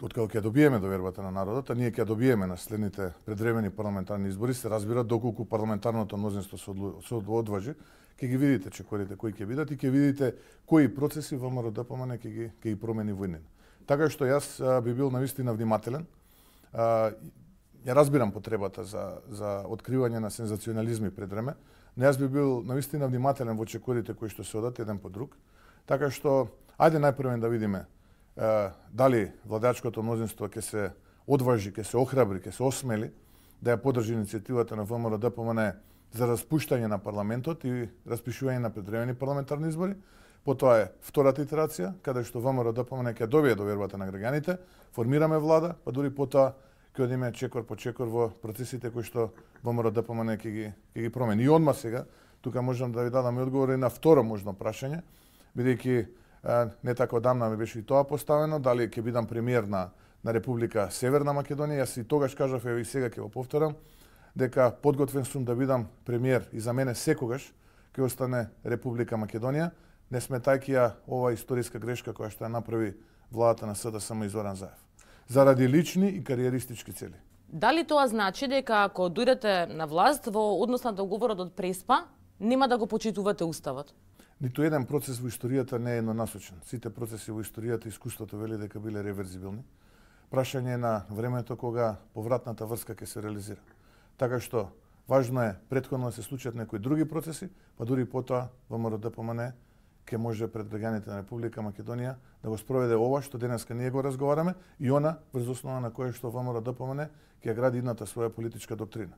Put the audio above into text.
откако ќе добиеме довербата на народот, а ние ќе добиеме на следните предвремени парламентарни избори, се разбира доколку парламентарното мнозинство се одважи, ќе ги видите чекорите кои ќе бидат и ќе видите кои процеси ВМРО-ДПМН ќе ги промени во иднина. Така што јас би бил навистина внимателен. Ја разбирам потребата за откривање на сензационализми пред време, но јас би бил навистина внимателен во чекорите кои што се одат еден по друг. Така што ајде најпрво да видиме дали владачкото мнозинство ќе се одважи, ќе се охрабри, ќе се осмели да ја поддржи иницијативата на ВМРО-ДПМН за распуштање на парламентот и распишување на предвремени парламентарни избори. Потоа е втората итерација, каде што ВМРО-ДПМН ќе добие довербата на граѓаните, формираме влада, па дури потоа ќе одиме чекор по чекор во процесите кои што ВМРО-ДПМН ќе ги промени. И одма сега, тука можам да ви дадам и одговор и на второ можно прашање, бидејќи не така одамна ми беше и тоа поставено, дали ќе бидам премиер на Република Северна Македонија. Јас и тогаш кажав, и сега ќе го повторам, дека подготвен сум да бидам премиер и за мене секогаш ќе остане Република Македонија, не сметајќи ја ова историска грешка која што ја направи владата на СДСМ и Зоран Заев. Заради лични и кариеристички цели. Дали тоа значи дека ако дојдете на власт во однос на договорот од Преспа, нема да го почитувате уставот? Ниту еден процес во историјата не е еднонасочен. Сите процеси во историјата искуството вели дека биле реверзибилни. Прашање на времето кога повратната врска ќе се реализира. Така што важно е претходно да се случат некои други процеси, па дури потоа ВМРО-ДПМН ќе може пред граѓаните на Република Македонија да го спроведе ова што денеска ние го разговараме и она врз основа на кое што ВМРО-ДПМН ќе гради идната своја политичка доктрина.